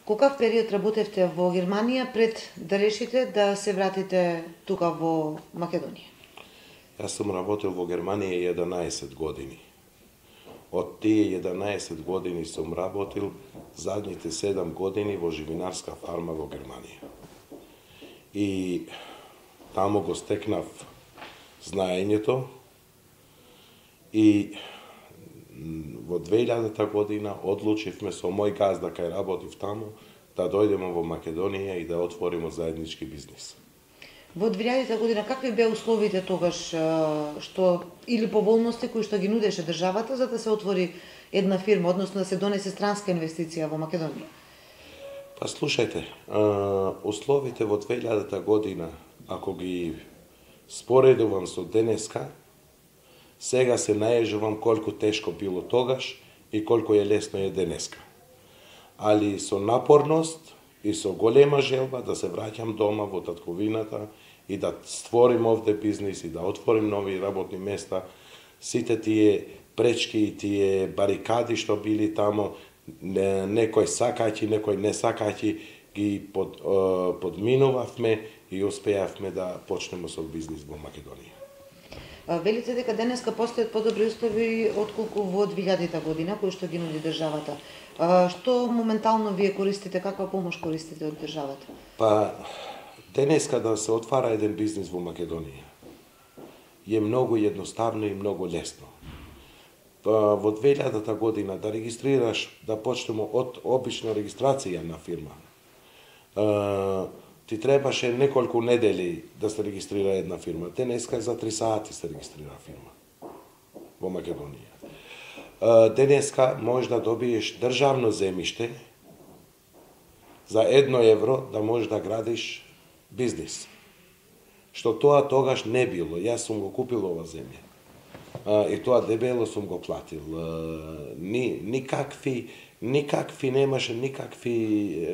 Колкав период работевте во Германија пред да решите да се вратите тука во Македонија? Јас сум работел во Германија 11 години. Од тие 11 години сум работил задните 7 години во живинарска фарма во Германија. И таму го стекнав знаењето и во 2000 година одлучивме со мој газда кај работив таму да дојдеме во Македонија и да отвориме заеднички бизнис. Во 2000 година какви беа условите тогаш што или поволности кои што ги нудеше државата за да се отвори една фирма, односно да се донесе странска инвестиција во Македонија? Па слушајте, условите во 2000 година, ако ги споредувам со денеска, сега се најежувам колку тешко било тогаш и колку е лесно е денеска. Али со напорност и со голема желба да се враќам дома во татковината и да створим овде бизнис и да отворим нови работни места, сите тие пречки и тие барикади што били таму, некој сакајќи, некој не сакајќи, ги подминувавме и успеавме да почнеме со бизнис во Македонија. Велите дека денеска постојат подобри услови отколку во 2000 година кои што ги нуди државата. Што моментално вие користите, каква помош користите од државата? Па денеска да се отвара еден бизнис во Македонија е многу едноставно и многу лесно. Во 2000 година да регистрираш, да почнеме од обична регистрација на фирма, ти требаше неколку недели да се регистрира една фирма. Денеска за 3 сати се регистрира фирма во Македонија. Денеска можеш да добиеш државно земјиште за 1 евро да можеш да градиш бизнис. Што тоа тогаш не било. Јас сум го купил ова земја. И тоа дебело сум го платил. Никакви немаше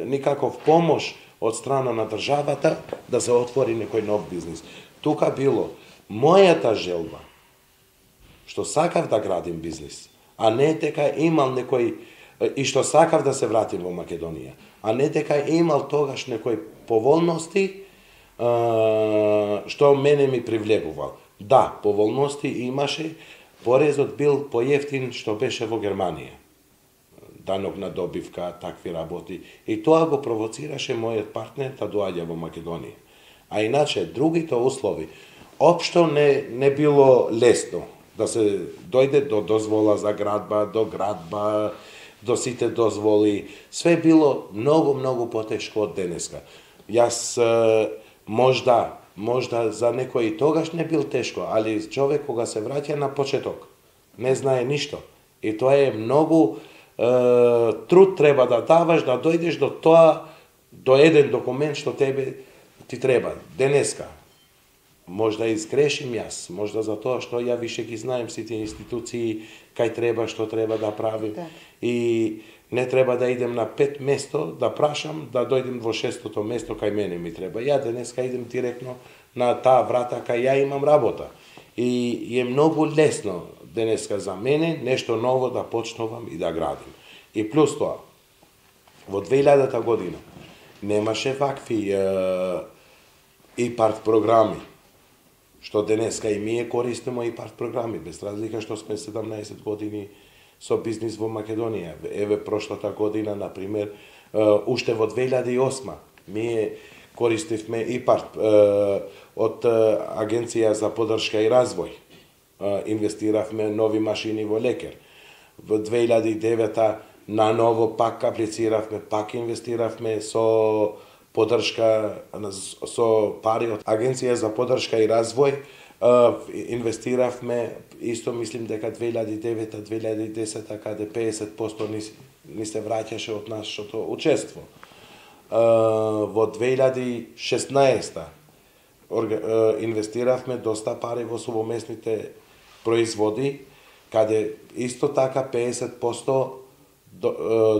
никаков помош од страна на државата да се отвори некој нов бизнис. Тука било мојата желба, што сакав да градим бизнис, а не дека имал некој, и што сакав да се вратим во Македонија, а не дека имал тогаш некој поволности што мене ми привлегувал. Да, поволности имаше, порезот бил поевтин што беше во Германија. Данок на добивка, такви работи. И тоа го провоцираше мојот партнер да доаѓа во Македонија. А иначе, другите услови, општо не било лесно да се дојде до дозвола за градба, до сите дозволи. Све било многу потешко од денеска. Јас можда за некој тогаш не бил тешко, али човек кога се враќа на почеток, не знае ништо. И тоа е многу труд треба да даваш да дојдеш до тоа, до еден документ што тебе ти треба. Денеска, можда изгрешим јас, можда за тоа што ја више ги знаем сите институции, кај треба, што треба да правим. Да. И не треба да идем на 5 место, да прашам, да дојдем во 6-то место кај мене ми треба. Ја денеска идем директно на таа врата кај ја имам работа. И е многу лесно денеска за мене нешто ново да почнувам и да градим. И плюс тоа, во 2000 година немаше вакви ИПАРТ програми, што денеска и ние користиме ИПАРТ програми, без разлика што сме 17 години со бизнис во Македонија. Еве прошлата година, например, уште во 2008 ние користивме ИПАРТ од Агенција за поддршка и развој. Инвестиравме нови машини во лекер. Во 2009 на ново пак аплициравме, пак инвестиравме со поддршка, со пари од Агенција за поддршка и развој. Инвестиравме, исто мислим дека 2009-2010 каде 50% ни се враќаше од нашето учество. Во 2016 инвестиравме доста пари во совместните производи, каде исто така 50%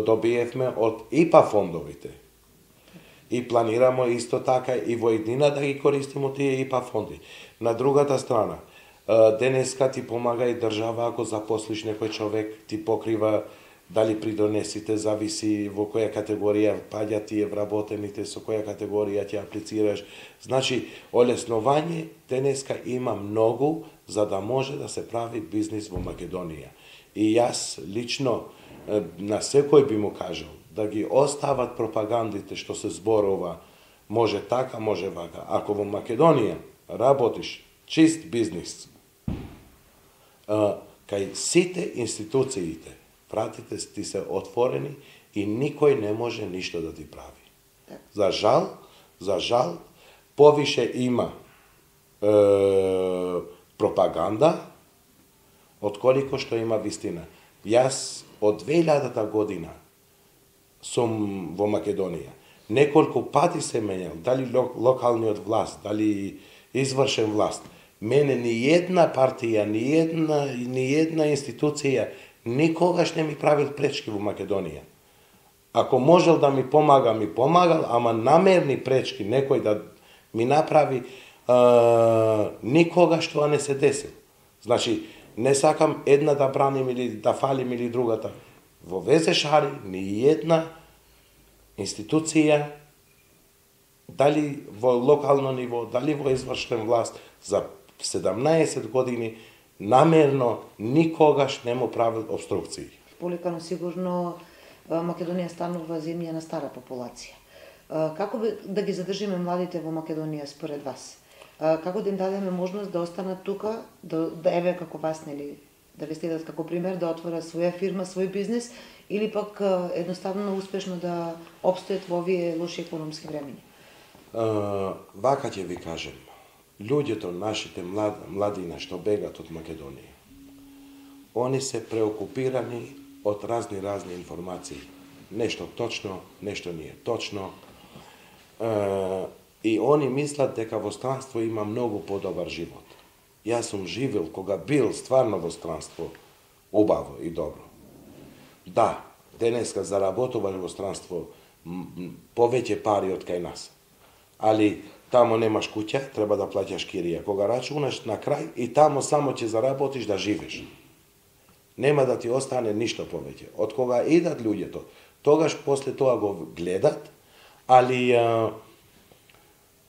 добиевме од ИПА фондовите. И планираме исто така и во иднина да ги користиме тие ИПА фонди. На другата страна, денеска ти помага и држава ако запослиш некој човек, ти покрива Дали придонесите, зависи во која категорија паѓа тие вработените, со која категорија ќе аплицираш. Значи, олеснување денеска има многу за да може да се прави бизнис во Македонија. И јас лично на секој би му кажал да ги остават пропагандите што се зборува може така, може вака. Ако во Македонија работиш чист бизнис, кај сите институциите вратите ти се отворени и никој не може ништо да ти прави. За жал, повише има пропаганда отколку што има вистина. Јас од 2000 година сум во Македонија. Неколку пати се менјал, дали локалниот власт, дали извршен власт. Мене ни една партија, ни една институција никогаш не ми правил пречки во Македонија. Ако можел да ми помагал, ама намерни пречки некој да ми направи, никогаш тоа не се десил. Значи, не сакам една да браним или да фалим или другата. Во ВЗШ ни една институција, дали во локално ниво, дали во извршен власт, за 17 години намерно никогаш не му правил обструкции. Поликано сигурно Македонија станува земја на стара популација. Како да ги задржиме младите во Македонија според вас? Како да им дадеме можност да останат тука, да еве како вас, нели, да ве следат како пример, да отворат своја фирма, свој бизнес, или пак едноставно успешно да опстојат во овие лоши економски времиња? Вака ќе ви кажем. Луѓето, нашите младина што бегат од Македонија, они се преокупирани од разни информации. Нешто точно, нешто не е точно. И они мислат дека во странство има многу подобар живот. Јас сум живел, кога бил стварно во странство, убаво и добро. Да, денеска заработуваш во странство повеќе пари од кај нас. Али тамо немаш куќа, треба да плаќаш кирија. Кога рачунаш на крај и тамо само ќе заработиш да живеш. Нема да ти остане ништо повеќе. Од кога идат луѓето, тогаш после тоа го гледат, али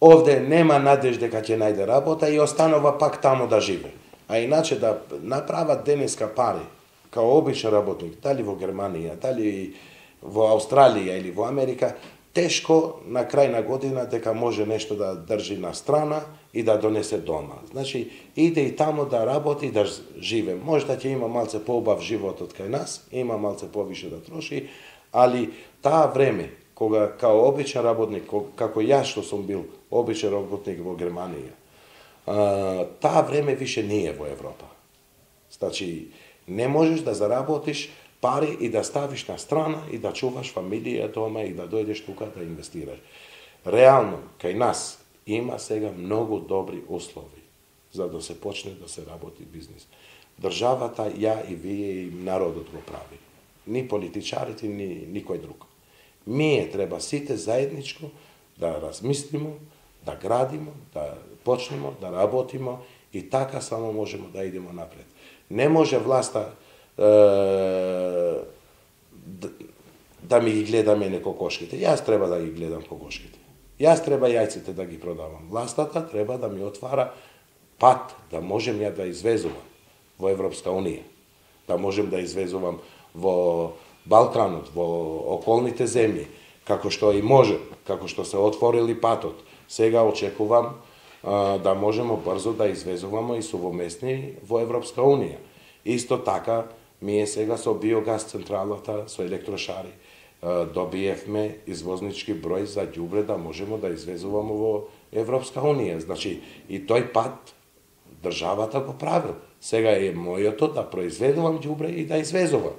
овде нема надеж дека ќе најде работа и останува пак тамо да живе. А иначе да направат денеска пари, као обичен работник, дали во Германија, дали во Австралија или во Америка, тешко на крај на година дека може нешто да држи на страна и да донесе дома. Значи, иде и тамо да работи и да живе. Може да ќе има малце поубав живот од кај нас, има малце повише да троши, али таа време, кога као обичен работник, како јас што сум бил обичен работник во Германија, таа време више не е во Европа. Значи, не можеш да заработиш пари и да ставиш на страна и да чуваш фамилија дома и да дојдеш тука да инвестираш. Реално, кај нас има сега многу добри услови за да се почне да се работи бизнис. Државата, ја и вие и народот го прави. Ни политичарите, ни никој друг. Ние треба сите заедничко да размислимо, да градимо, да почнемо, да работимо и така само можеме да идемо напред. Не може власта да ми ги гледа мене кокошките. Јас треба да ги гледам кокошките. Јас треба јајците да ги продавам. Властата треба да ми отвара пат да можем ја да извезувам во Европска Унија. Да можем да извезувам во Балканот, во околните земји, како што и може, како што се отворили патот. Сега очекувам да можеме брзо да извезуваме и сувоместни во Европска Унија. Исто така, ние сега со биогаз централата, со електрошари, добиевме извознички број за ѓубре да можеме да извезуваме во Европска Унија. Значи, и тој пат државата го правил. Сега е мојото да произведувам ѓубре и да извезувам.